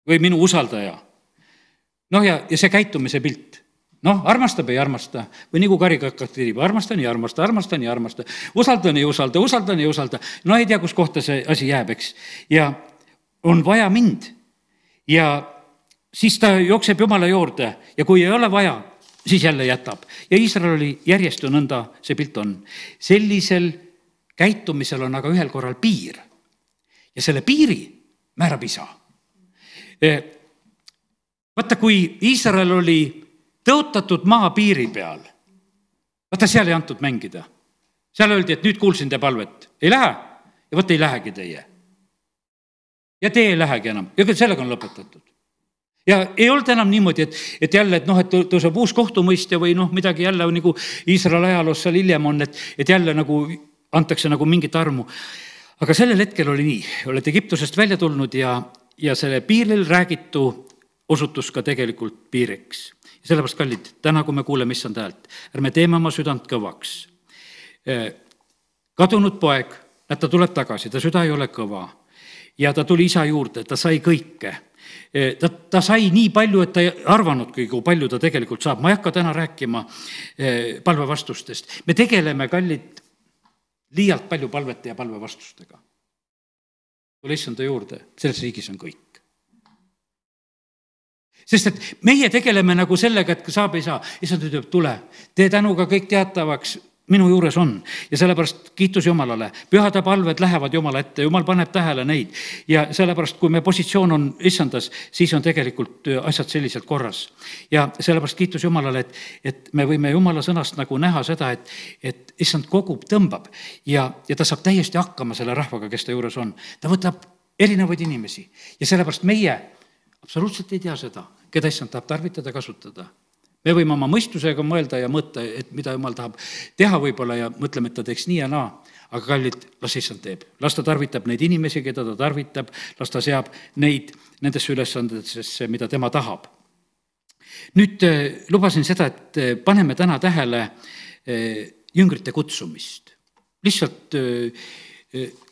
või minu usaldaja. Noh ja, ja see käitumise pilt. Noh, armastab ei armasta või nagu karikakkat tirib, armastan ja armasta, armastan ja armasta, usaldan ja usalda, usaldan ja usalda. No ei tea, kus kohta see asi jääb, eks. Ja on vaja mind ja siis ta jookseb Jumala juurde ja kui ei ole vaja, siis jälle jätab. Ja Iisrael oli järjest ja nõnda see pilt on. Sellisel käitumisel on aga ühel korral piir ja selle piiri määrab isa. Vaata, kui Iisrael oli tõotatud maa piiri peal, vaata, seal ei antud mängida. Seal öeldi, et nüüd kuulsin te palvet. Ei lähe ja vaata, ei lähegi teie. Ja te ei lähegi enam. Ja sellega on lõpetatud. Ja ei olnud enam niimoodi, et, et jälle, et noh, et tõuseb uus kohtumõistja või noh, midagi jälle nagu Iisrael ajaloos seal hiljem on, et, et jälle nagu antakse nagu mingit armu. Aga sellel hetkel oli nii, oled Egiptusest välja tulnud ja, ja selle piiril räägitu osutus ka tegelikult piiriks. Ja sellepärast, kallid, täna kui me kuuleme issand häält, ärme teeme oma südant kõvaks. Kadunud poeg, et ta tuleb tagasi, ta süda ei ole kõva ja ta tuli isa juurde, ta sai kõike. Ta, ta sai nii palju, et ta ei arvanudki, kui palju ta tegelikult saab. Ma ei hakka täna rääkima palvevastustest. Me tegeleme, kallid, liialt palju palvete ja palvevastustega. Tule issanda juurde, selles riigis on kõik. Sest et meie tegeleme nagu sellega, et saab ei saa. Issand ütleb, tule, tee tänuga kõik teatavaks, minu juures on. Ja sellepärast kiitus Jumalale. Pühade palved lähevad Jumala ette, Jumal paneb tähele neid. Ja sellepärast, kui me positsioon on issandas, siis on tegelikult asjad selliselt korras. Ja sellepärast kiitus Jumalale, et, et me võime Jumala sõnast nagu näha seda, et, et issand kogub, tõmbab ja, ja ta saab täiesti hakkama selle rahvaga, kes ta juures on. Ta võtab erinevaid inimesi ja sellepärast meie absoluutselt ei tea seda, keda issand tahab tarvitada, kasutada. Me võime oma mõistusega mõelda ja mõõta, et mida Jumal tahab teha võib-olla ja mõtleme, et ta teeks nii ja naa. Aga kallid, las issand teeb. Las ta tarvitab neid inimesi, keda ta tarvitab, las ta seab neid nendesse ülesandesse, mida tema tahab. Nüüd lubasin seda, et paneme täna tähele jüngrite kutsumist. Lihtsalt,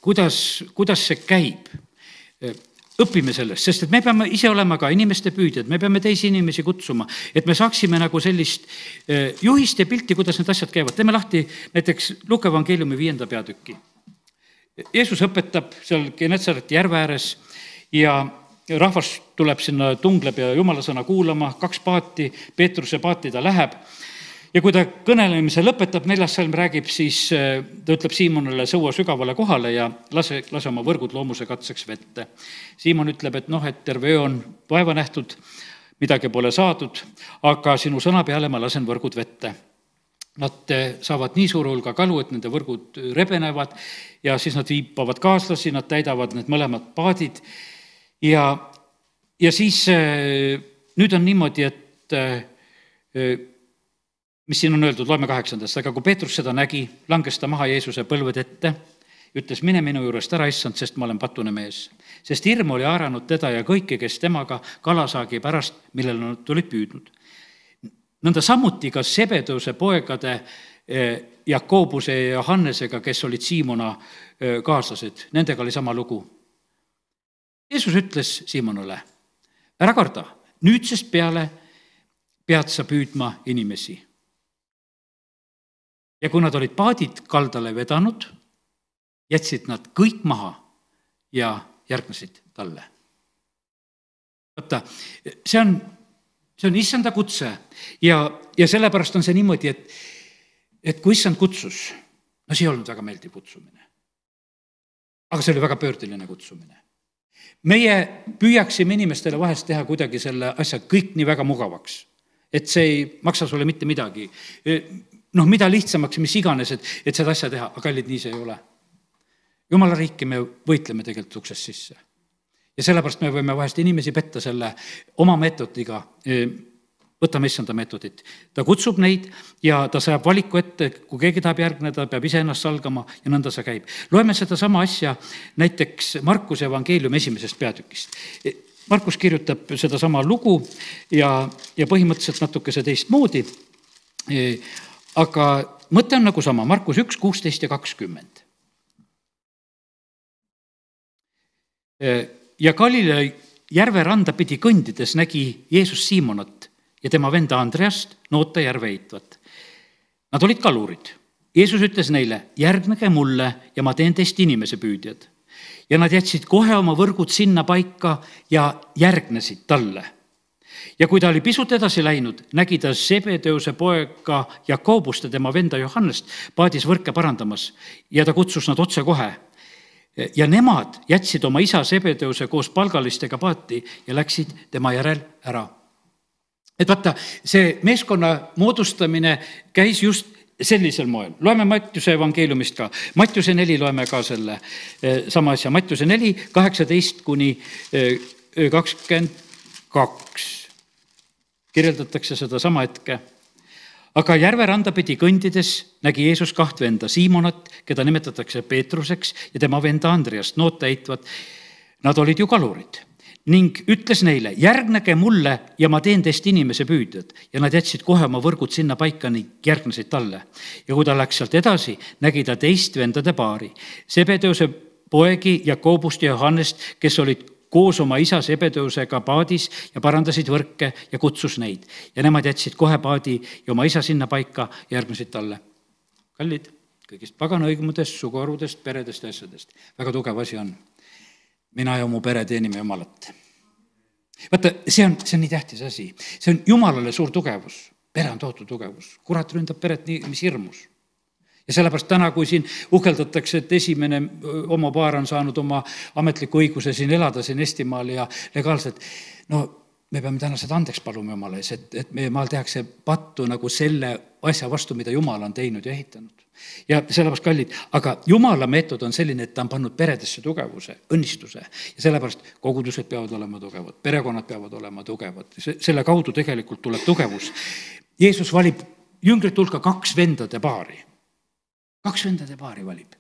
kuidas, kuidas see käib. Õpime sellest, sest et me peame ise olema ka inimeste püüdjad, me peame teisi inimesi kutsuma, et me saaksime nagu sellist juhist ja pilti, kuidas need asjad käivad. Teeme lahti näiteks Luuka evangeeliumi viienda peatüki. Jeesus õpetab seal Genetsareti järve ääres ja rahvas tuleb sinna, tungleb ja jumala sõna kuulama, kaks paati, Peetruse paati ta läheb. Ja kui ta kõnelemise lõpetab, neljas salm räägib, siis ta ütleb Siimonile sõua sügavale kohale ja lase, lase oma võrgud loomuse katseks vette. Siimon ütleb, et noh, et terve öö on vaeva nähtud, midagi pole saadud, aga sinu sõna peale ma lasen võrgud vette. Nad saavad nii suure hulga kalu, et nende võrgud rebenevad ja siis nad viipavad kaaslasi, nad täidavad need mõlemad paadid. Ja, ja siis nüüd on niimoodi, et mis siin on öeldud, loeme kaheksandast, aga kui Peetrus seda nägi, langes ta maha Jeesuse põlved ette, ütles, mine minu juurest ära, issand, sest ma olen patune mees. Sest hirm oli haaranud teda ja kõiki, kes temaga kalasaagi pärast, millel nad tulid püüdnud. Nõnda samuti ka Sebedeuse poegade Jakobuse ja Johannesega, kes olid Siimona kaaslased, nendega oli sama lugu. Jeesus ütles Siimonile, ära karda, nüüdsest peale pead sa püüdma inimesi. Ja kui nad olid paadid kaldale vedanud, jätsid nad kõik maha ja järgnesid talle. Võtta, see on, see on issanda kutse ja, ja sellepärast on see niimoodi, et, et kui issand kutsus, no see ei olnud väga meeldiv kutsumine. Aga see oli väga pöördeline kutsumine. Meie püüaksime inimestele vahest teha kuidagi selle asja kõik nii väga mugavaks, et see ei maksa sulle mitte midagi. Noh, mida lihtsamaks, mis iganes, et, et seda asja teha, aga kallid, nii see ei ole. Jumala riiki me võitleme tegelikult uksest sisse. Ja sellepärast me võime vahest inimesi petta selle oma meetodiga, võtame issanda meetodit. Ta kutsub neid ja ta sajab valiku ette, kui keegi tahab järgneda, peab ise ennast salgama ja nõnda see käib. Loeme seda sama asja näiteks Markuse evangeeliumi esimesest peatükist. Markus kirjutab seda sama lugu ja, ja põhimõtteliselt natuke see teist moodi, aga mõte on nagu sama, Markus üks, kuusteist ja kakskümmend. Ja Galilea järve randa pidi kõndides nägi Jeesus Siimonat ja tema venda Andreast noota järve heitvat. Nad olid kalurid. Jeesus ütles neile, järgnege mulle ja ma teen teist inimese püüdjad. Ja nad jätsid kohe oma võrgud sinna paika ja järgnesid talle. Ja kui ta oli pisut edasi läinud, nägi ta Sebedeuse poega Jakobust ja tema venda Johannest paadis võrke parandamas ja ta kutsus nad otse kohe. Ja nemad jätsid oma isa Sebedeuse koos palgalistega paati ja läksid tema järel ära. Et vaata, see meeskonna moodustamine käis just sellisel moel. Loeme Mattiuse evangeeliumist ka. Mattiuse neli loeme ka selle sama asja. Mattiuse neli, kaheksateist kuni kakskümmend kaks. Kirjeldatakse seda sama hetke. Aga järve randa pidi kõndides nägi Jeesus kaht venda, Siimonat, keda nimetatakse Peetruseks, ja tema venda Andreast, noota heitvat. Nad olid ju kalurid. Ning ütles neile, järgnege mulle ja ma teen teist inimese püüdjad. Ja nad jätsid kohe oma võrgud sinna paika ning järgnesid talle. Ja kui ta läks sealt edasi, nägi ta teist vendade paari. Sebedeuse poegi Jakobust ja Johannest, kes olid koos oma isa Sebedeusega paadis ja parandasid võrke ja kutsus neid. Ja nemad jätsid kohe paadi ja oma isa sinna paika ja järgnesid talle. Kallid, kõigist pagana õigmudest, suguarvudest, peredest ja asjadest. Väga tugev asi on. Mina ja mu pere teenime Jumalat. Vaata, see on, see on nii tähtis asi. See on Jumalale suur tugevus. Pere on tohutu tugevus. Kurat ründab peret nii, mis hirmus. Ja sellepärast täna, kui siin uhkeldatakse, et esimene homopaar on saanud oma ametliku õiguse siin elada siin Eestimaal ja legaalselt, no me peame täna seda andeks paluma Jumala ees, et, et meie maal tehakse pattu nagu selle asja vastu, mida Jumal on teinud ja ehitanud. Ja sellepärast kallid, aga Jumala meetod on selline, et ta on pannud peredesse tugevuse, õnnistuse ja sellepärast kogudused peavad olema tugevad, perekonnad peavad olema tugevad. Selle kaudu tegelikult tuleb tugevus. Jeesus valib jüngrit hulka kaks vendade paari. Kaks vendade paari valib.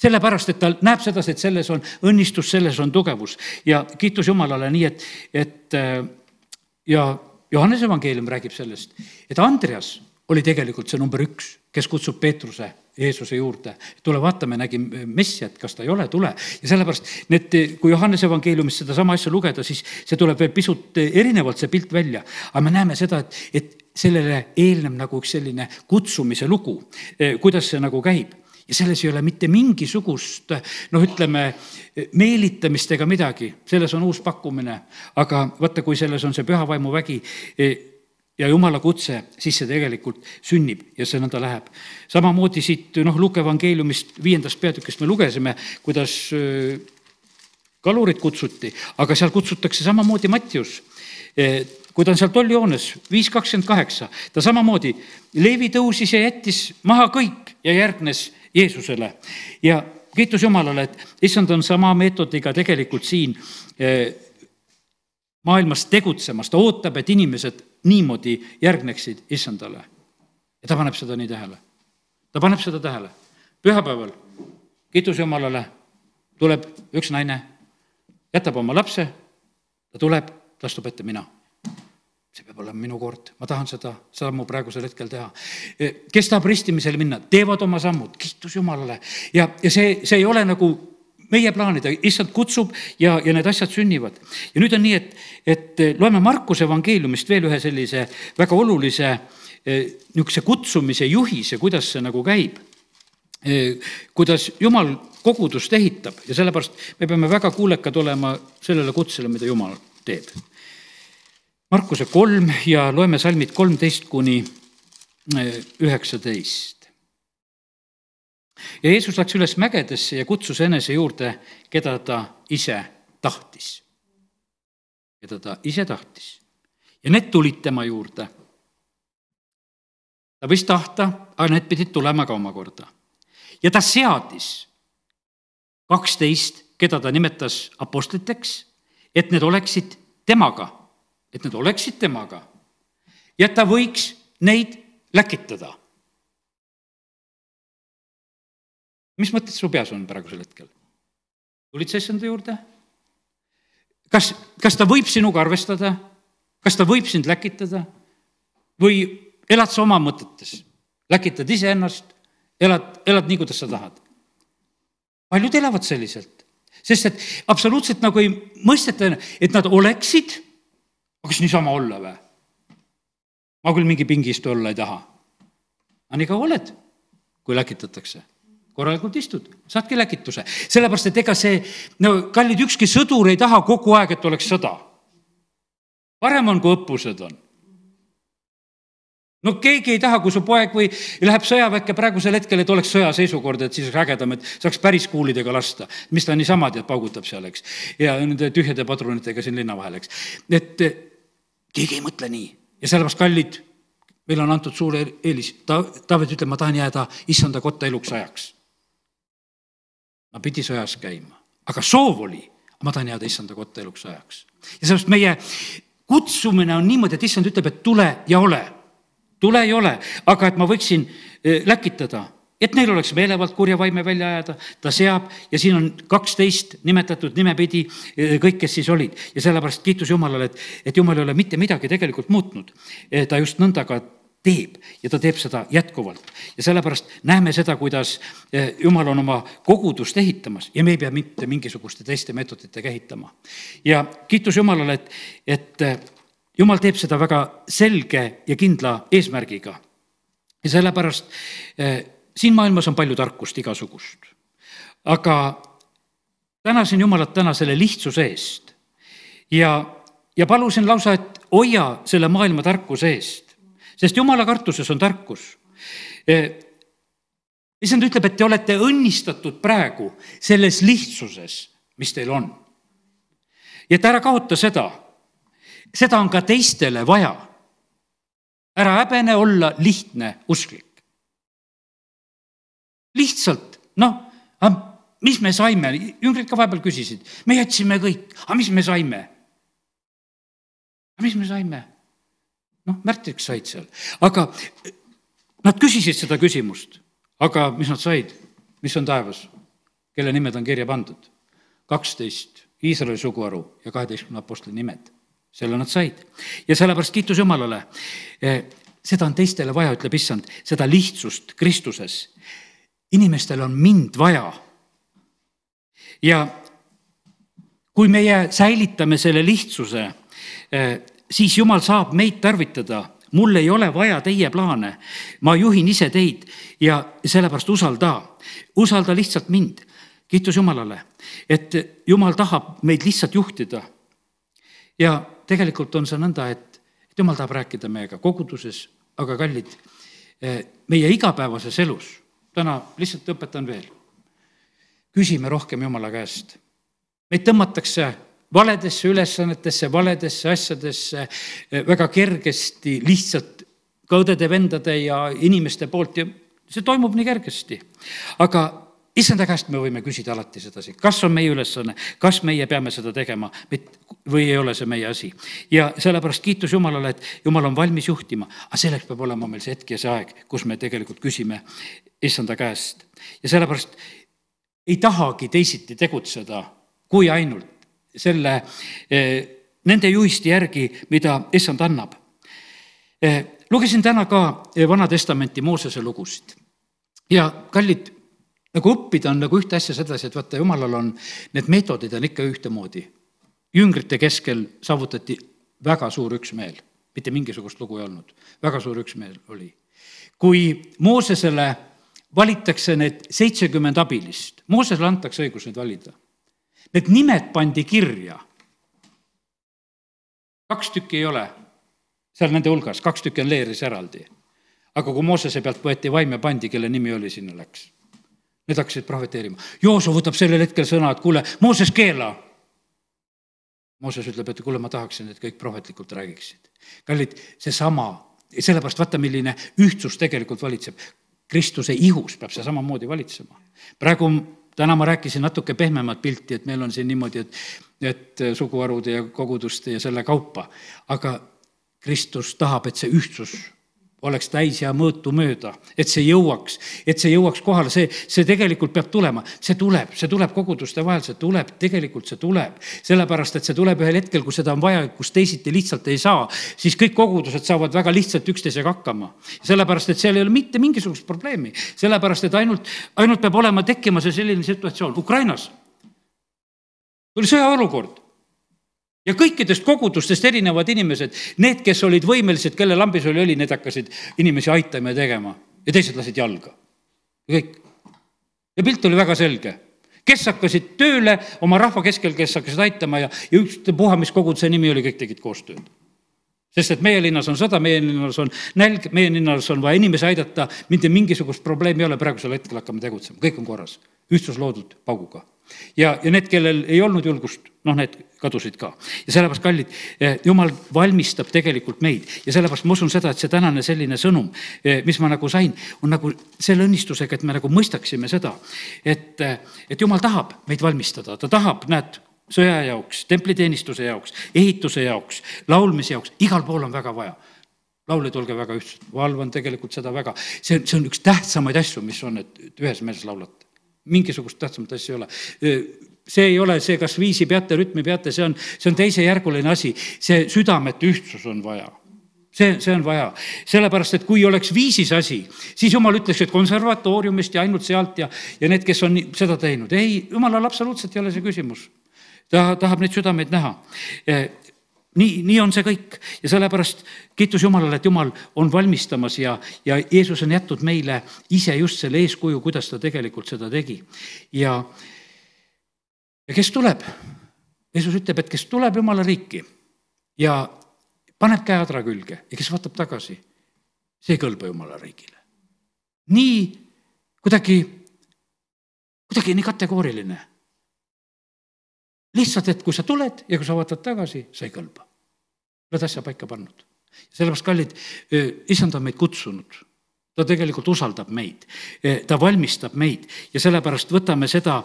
Sellepärast, et ta näeb seda, et selles on õnnistus, selles on tugevus. Ja kiitus Jumalale nii, et, et ja Johannese evangeelium räägib sellest, et Andreas oli tegelikult see number üks, kes kutsub Peetruse Jeesuse juurde. Tule vaatame, nägi Messiat, kas ta ei ole, tule. Ja sellepärast, need, kui Johannese evangeeliumist seda sama asja lugeda, siis see tuleb veel pisut erinevalt see pilt välja. Aga me näeme seda, et, et sellele eelneb nagu üks selline kutsumise lugu, kuidas see nagu käib. ja selles ei ole mitte mingisugust, noh, ütleme, meelitamist ega midagi. Selles on uus pakkumine, aga vaata, kui selles on see püha vaimu vägi ja Jumala kutse, siis see tegelikult sünnib ja see nõnda läheb. Samamoodi siit, noh, Luuke evangeeliumist viiendast peatükist me lugesime, kuidas kalurid kutsuti, aga seal kutsutakse samamoodi Mattius, kui ta on seal tollihoones, viis kakskümmend kaheksa, ta samamoodi, Leevi tõusis ja jättis maha kõik ja järgnes Jeesusele. Ja kiitus Jumalale, et issand on sama meetodiga tegelikult siin maailmas tegutsemas. Ta ootab, et inimesed niimoodi järgneksid issandale. Ja ta paneb seda nii tähele. Ta paneb seda tähele. Pühapäeval, kiitus Jumalale, tuleb üks naine, jätab oma lapse, ta tuleb, ta astub ette mina. See peab olema minu kord. Ma tahan seda sammu praegusel hetkel teha. Kes tahab ristimisele minna, teevad oma sammud, kiitus Jumalale. Ja, ja see, see ei ole nagu meie plaanida, issand kutsub ja, ja need asjad sünnivad. Ja nüüd on nii, et, et loeme Markuse evangeeliumist veel ühe sellise väga olulise niisuguse kutsumise juhise, kuidas see nagu käib. Kuidas Jumal kogudust ehitab ja sellepärast me peame väga kuulekad olema sellele kutsele, mida Jumal teeb. Markuse kolm ja loeme salmid kolmteist kuni üheksateist. Ja Jeesus läks üles mägedesse ja kutsus enese juurde, keda ta ise tahtis. Keda ta ise tahtis. Ja need tulid tema juurde. Ta võis tahta, aga need pidid tulema ka omakorda. Ja ta seadis kaksteist, keda ta nimetas apostliteks, et need oleksid temaga. Et need oleksid temaga ja ta võiks neid läkitada. Mis mõtted su peas on praegusel hetkel? Tulid sa issanda juurde? Kas, kas ta võib sinuga arvestada? Kas ta võib sind läkitada? Või elad sa oma mõtetes? Läkitad ise ennast? Elad, elad nii, kuidas sa tahad? Paljud elavad selliselt. Sest et absoluutselt nagu ei mõisteta, et nad oleksid. Aga kas niisama olla või? Ma küll mingi pingistu olla ei taha. Aga nii ka oled, kui läkitatakse. Korralikult istud, saadki läkituse. Sellepärast, et ega see, no kallid, ükski sõdur ei taha kogu aeg, et oleks sõda. Parem on, kui õppused on. No keegi ei taha, kui su poeg või läheb sõjaväkke praegusel hetkel, et oleks sõjaseisukord, et siis ägedam, et saaks päris kuulidega lasta. Mis ta niisama tead, paugutab seal, eks. Ja nende tühjade padrunitega siin linna vahel, eks. Et keegi ei mõtle nii. Ja sellepärast kallid, meil on antud suur eelis. Taavet ütleb, ma tahan jääda issanda kotta eluks ajaks. Ma pidi sõjas käima. Aga soov oli, ma tahan jääda issanda kotta eluks ajaks. Ja sellepärast meie kutsumine on niimoodi, et issand ütleb, et tule ja ole. Tule ei ole, aga et ma võiksin läkitada. Et neil oleks meelevalt kurja vaime välja ajada, ta seab ja siin on kaksteist nimetatud nimepidi kõik, kes siis olid. Ja sellepärast kiitus Jumalale, et, et Jumal ei ole mitte midagi tegelikult muutnud. Ta just nõnda ka teeb ja ta teeb seda jätkuvalt. Ja sellepärast näeme seda, kuidas Jumal on oma kogudust ehitamas ja me ei pea mitte mingisuguste teiste meetoditega ehitama. Ja kiitus Jumalale, et, et Jumal teeb seda väga selge ja kindla eesmärgiga. Ja sellepärast siin maailmas on palju tarkust igasugust. Aga tänasin Jumalat täna selle lihtsuse eest ja, ja palusin lausa, et hoia selle maailma tarkuse eest. Sest Jumala kartuses on tarkus. Issand ütleb, et te olete õnnistatud praegu selles lihtsuses, mis teil on. Ja et ära kaota seda. Seda on ka teistele vaja. Ära häbene olla lihtne usklik. Lihtsalt, noh, mis me saime, jüngrid ka vahepeal küsisid, me jätsime kõik, aga mis me saime? Aga mis me saime? Noh, märtriks said seal, aga nad küsisid seda küsimust, aga mis nad said, mis on taevas, kelle nimed on kirja pandud? kaksteist Iisraeli suguharu ja kaheteistkümne apostli nimed, selle nad said. Ja sellepärast kiitus Jumalale, seda on teistele vaja, ütleb issand, seda lihtsust Kristuses. Inimestel on mind vaja. Ja kui meie säilitame selle lihtsuse, siis Jumal saab meid tarvitada mul ei ole vaja teie plaane, ma juhin ise teid ja sellepärast usalda, usalda lihtsalt mind. Kiitus Jumalale, et Jumal tahab meid lihtsalt juhtida. Ja tegelikult on see nõnda, et, et Jumal tahab rääkida meiega koguduses, aga kallid, meie igapäevases elus, täna lihtsalt õpetan veel, küsime rohkem Jumala käest. Meid tõmmatakse valedesse ülesannetesse, valedesse asjadesse väga kergesti, lihtsalt ka õdede, vendade ja inimeste poolt ja see toimub nii kergesti. Aga issanda käest me võime küsida alati sedasi, kas on meie ülesanne, kas meie peame seda tegema või ei ole see meie asi. Ja sellepärast kiitus Jumalale, et Jumal on valmis juhtima, aga selleks peab olema meil see hetk ja see aeg, kus me tegelikult küsime issanda käest. Ja sellepärast ei tahagi teisiti tegutseda, kui ainult selle, nende juhisti järgi, mida issand annab. Lugesin täna ka Vana Testamenti Moosese lugusid ja kallid, nagu õppida on nagu ühte asja sedasi, et vaata, Jumalal on, need meetodid on ikka ühtemoodi. Jüngrite keskel saavutati väga suur üksmeel, mitte mingisugust lugu ei olnud, väga suur üksmeel oli. Kui Moosesele valitakse need seitsekümmend abilist, Moosesele antakse õigus neid valida. Need nimed pandi kirja. Kaks tükki ei ole seal nende hulgas, kaks tükki on leeris eraldi. Aga kui Moosese pealt võeti vaim ja pandi, kelle nimi oli, sinna läks. Need hakkasid prohveteerima. Joosu võtab sellel hetkel sõna, et kuule, Mooses keela. Mooses ütleb, et kuule, ma tahaksin, et kõik prohvetlikult räägiksid. Kallid, see sama, sellepärast vaata, milline ühtsus tegelikult valitseb. Kristuse ihus peab see samamoodi valitsema. Praegu täna ma rääkisin natuke pehmemat pilti, et meil on siin niimoodi, et, et suguharude ja koguduste ja selle kaupa. Aga Kristus tahab, et see ühtsus oleks täis ja mõõtu mööda, et see jõuaks, et see jõuaks kohale, see, see tegelikult peab tulema, see tuleb, see tuleb koguduste vahel, see tuleb, tegelikult see tuleb, sellepärast, et see tuleb ühel hetkel, kui seda on vaja, kus teisiti lihtsalt ei saa, siis kõik kogudused saavad väga lihtsalt üksteisega hakkama. Sellepärast, et seal ei ole mitte mingisugust probleemi, sellepärast, et ainult, ainult peab olema tekkima see selline situatsioon. Ukrainas oli sõjaolukord. Ja kõikidest kogudustest erinevad inimesed, need, kes olid võimelised, kelle lambis oli oli, need hakkasid inimesi aitama ja tegema. Ja teised lasid jalga. Ja kõik. Ja pilt oli väga selge. Kes hakkasid tööle oma rahva keskel, kes hakkasid aitama ja, ja üks puha, mis koguduse nimi oli, kõik tegid koostööd. Sest et meie linnas on sõda, meie linnas on nälg, meie linnas on vaja inimesi aidata, mitte mingisugust probleemi ei ole, praegusel hetkel hakkame tegutsema. Kõik on korras. Ühtsus loodud pauguga. Ja, ja need, kellel ei olnud julgust, noh, need kadusid ka. Ja sellepärast, kallid, Jumal valmistab tegelikult meid. Ja sellepärast ma usun seda, et see tänane selline sõnum, mis ma nagu sain, on nagu selle õnnistusega, et me nagu mõistaksime seda, et, et Jumal tahab meid valmistada. Ta tahab, näed, sõja jaoks, templiteenistuse jaoks, ehituse jaoks, laulmise jaoks, igal pool on väga vaja. Laulid olge väga ühtsed, valvan tegelikult seda väga. See, see on üks tähtsamaid asju, mis on, et ühes meeles laulate. Mingisugust tähtsamat asja ei ole. See ei ole see, kas viisi peate, rütmi peate, see on, see on teise järguline asi. See südamet ühtsus on vaja. See, see on vaja. Sellepärast, et kui oleks viisis asi, siis Jumal ütleks, et konservatooriumist ja ainult sealt ja, ja need, kes on seda teinud. Ei, Jumalal absoluutselt ei ole see küsimus. Ta tahab neid südameid näha. Nii, nii on see kõik. Ja sellepärast kiitus Jumalale, et Jumal on valmistamas ja, ja Jeesus on jätnud meile ise just selle eeskuju, kuidas ta tegelikult seda tegi. Ja, ja kes tuleb? Jeesus ütleb, et kes tuleb Jumala riiki ja paneb käe adra külge ja kes vaatab tagasi, see ei kõlba Jumala riigile. Nii kuidagi, kuidagi nii kategooriline. Lihtsalt, et kui sa tuled ja kui sa vaatad tagasi, sa ei kõlba. Oled asja paika pannud. Sellepärast, kallid, issand on meid kutsunud. Ta tegelikult usaldab meid. Ta valmistab meid. Ja sellepärast võtame seda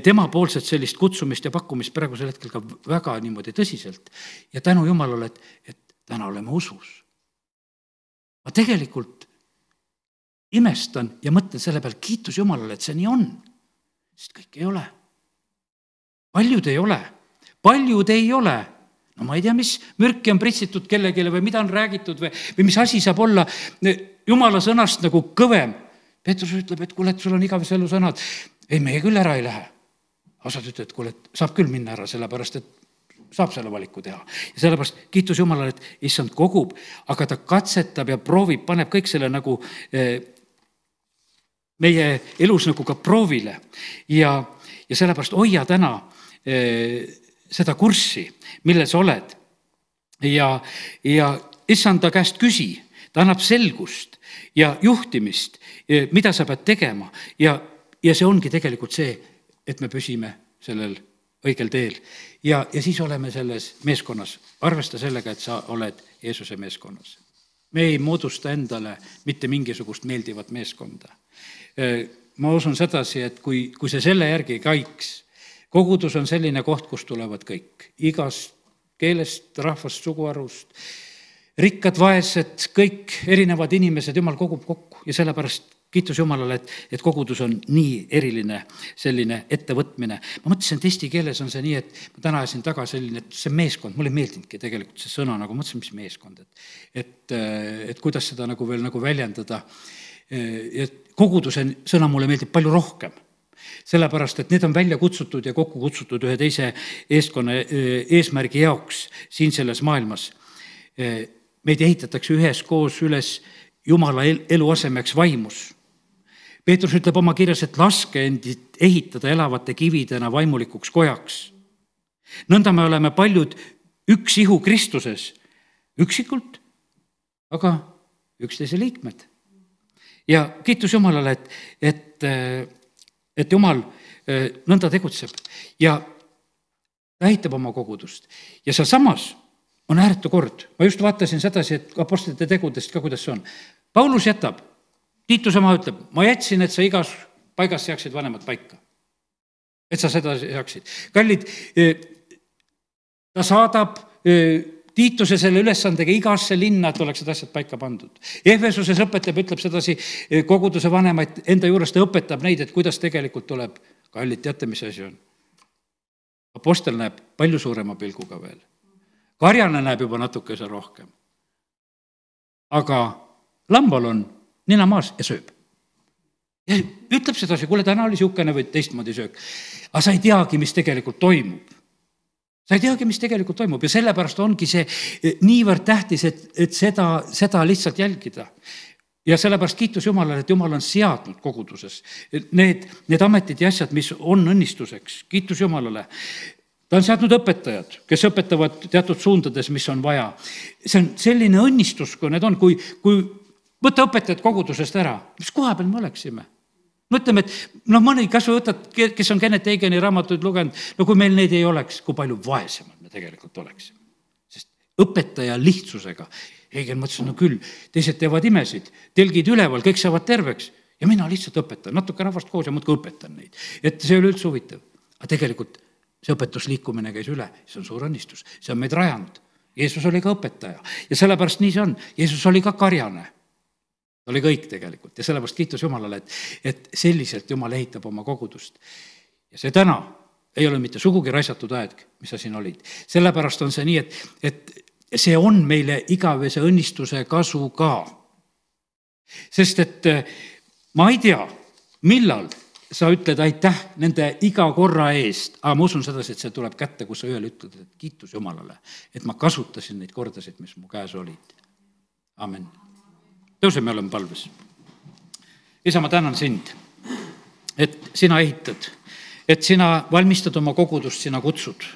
tema poolset sellist kutsumist ja pakkumist praegusel hetkel ka väga niimoodi tõsiselt. Ja tänu Jumalale, et, et täna oleme usus. Ma tegelikult imestan ja mõtlen selle peal, kiitus Jumalale, et see nii on. Sest kõik ei ole. Paljud ei ole, paljud ei ole. No ma ei tea, mis mürki on pritsitud kellegile või mida on räägitud või, või mis asi saab olla Jumala sõnast nagu kõvem. Peetrus ütleb, et kuule, et sul on igavese elu sõnad. Ei, meie küll ära ei lähe. Osad ütleb, et kuule, et saab küll minna ära, sellepärast, et saab selle valiku teha. Ja sellepärast kiitus Jumalale, et issand kogub, aga ta katsetab ja proovib, paneb kõik selle nagu meie elus nagu ka proovile. Ja, ja sellepärast hoia täna seda kurssi, mille sa oled. Ja, ja issanda käest küsi, ta annab selgust ja juhtimist, mida sa pead tegema. Ja, ja see ongi tegelikult see, et me püsime sellel õigel teel. Ja, ja siis oleme selles meeskonnas. Arvesta sellega, et sa oled Jeesuse meeskonnas. Me ei moodusta endale mitte mingisugust meeldivat meeskonda. Ma usun sedasi, et kui, kui see selle järgi käiks, kogudus on selline koht, kus tulevad kõik. Igast keelest, rahvast, suguarust, rikkad, vaesed, kõik erinevad inimesed, Jumal kogub kokku. Ja sellepärast kiitus Jumalale, et, et kogudus on nii eriline selline ettevõtmine. Ma mõtlesin, et eesti keeles on see nii, et ma täna ajasin taga selline, et see meeskond, mulle meeldinudki tegelikult see sõna, nagu mõtlesin, mis meeskond, et, et, et kuidas seda nagu veel nagu väljendada. Et koguduse sõna mulle meeldib palju rohkem. Sellepärast, et need on välja kutsutud ja kokku kutsutud ühe teise eeskonna eesmärgi jaoks siin selles maailmas. Meid ehitatakse üheskoos üles Jumala eluasemeks vaimus. Peetrus ütleb oma kirjas, et laske endid ehitada elavate kividena vaimulikuks kojaks. Nõnda me oleme paljud üks ihu Kristuses, üksikult, aga üksteise liikmed. Ja kiitus Jumalale, et, et, et Jumal nõnda tegutseb ja ta ehitab oma kogudust. Ja seal samas on ääretu kord. Ma just vaatasin sedasi, et apostlite tegudest ka, kuidas see on. Paulus jätab, Tiituse maa ütleb, ma jätsin, et sa igas paigas seaksid vanemad paika. Et sa seda seaksid. Kallid, ta saadab Tiituse selle ülesandega igasse linna, et oleksid asjad paika pandud. Efesuses õpetab, ütleb sedasi koguduse vanemaid enda juures, ta õpetab neid, et kuidas tegelikult tuleb. Kallid, teate, mis asi on? Apostel näeb palju suurema pilguga veel. Karjane näeb juba natukese rohkem. Aga lambal on nina maas ja sööb. Ja ütleb sedasi, kuule, täna oli siukene või teistmoodi söök. Aga sa ei teagi, mis tegelikult toimub. Sa ei teagi, mis tegelikult toimub ja sellepärast ongi see niivõrd tähtis, et, et seda, seda lihtsalt jälgida. Ja sellepärast kiitus Jumalale, et Jumal on seadnud koguduses need, need ametid ja asjad, mis on õnnistuseks. Kiitus Jumalale. Ta on seadnud õpetajad, kes õpetavad teatud suundades, mis on vaja. See on selline õnnistus, kui need on, kui, kui võtta õpetajad kogudusest ära. Mis koha peal me oleksime? No ütleme, et no mõni kas või võtad, kes on Kenneth Hagini raamatuid lugenud, no kui meil neid ei oleks, kui palju vaesemad me tegelikult oleksime. Sest õpetaja lihtsusega. Hagen mõtles, no küll, teised teevad imesid, telgid üleval, kõik saavad terveks ja mina lihtsalt õpetan, natuke rahvast koos ja muudkui õpetan neid. Et see oli üldse huvitav. Aga tegelikult see õpetusliikumine käis üle, see on suur õnnistus, see on meid rajanud. Jeesus oli ka õpetaja ja sellepärast nii see on. Jeesus oli ka karjane. Ta oli kõik tegelikult ja sellepärast kiitus Jumalale, et, et selliselt Jumal ehitab oma kogudust. Ja see täna ei ole mitte sugugi raisatud aeg, mis sa siin olid. Sellepärast on see nii, et, et see on meile igavese õnnistuse kasu ka. Sest et ma ei tea, millal sa ütled aitäh nende iga korra eest, aga ma usun sedasi, et see tuleb kätte, kus sa ühel ütled, et kiitus Jumalale, et ma kasutasin neid kordasid, mis mu käes olid. Amen. Tõuse, me oleme palves. Isa, ma tänan sind, et sina ehitad, et sina valmistad oma kogudust, sina kutsud.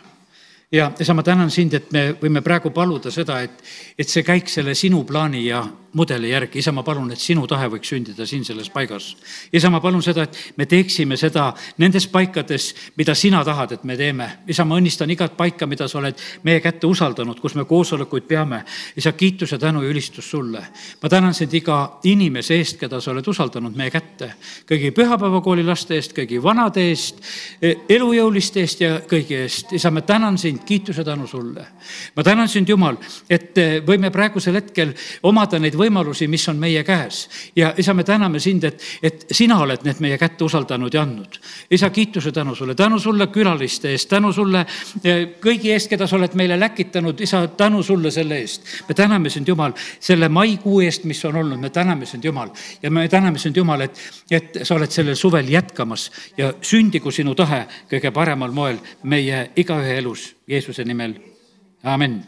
Ja isa, ma tänan sind, et me võime praegu paluda seda, et, et see käik selle sinu plaani ja mudeli järgi. Isa, ma palun, et sinu tahe võiks sündida siin selles paigas. Isa, ma palun seda, et me teeksime seda nendes paikades, mida sina tahad, et me teeme. Isa, ma õnnistan igat paika, mida sa oled meie kätte usaldanud, kus me koosolekuid peame. Isa, kiitus ja tänu ja ülistus sulle. Ma tänan sind iga inimese eest, keda sa oled usaldanud meie kätte. Kõigi pühapäevakooli laste eest, kõigi vanade eest, elujõuliste eest ja kõigi eest. Isa, ma tänan sind, kiitus ja tänu sulle. Ma tänan sind, Jumal, et võime praegusel hetkel omada neid võimalusi, mis on meie käes. Ja isa, me täname sind, et, et sina oled need meie kätte usaldanud ja andnud. Isa, kiituse tänu sulle, tänu sulle külaliste eest, tänu sulle kõigi eest, keda sa oled meile läkitanud. Isa, tänu sulle selle eest. Me täname sind, Jumal, selle maikuu eest, mis on olnud. Me täname sind, Jumal. Ja me täname sind, Jumal, et, et sa oled sellel suvel jätkamas ja sündigu sinu tahe kõige paremal moel meie igaühe elus. Jeesuse nimel, aamen.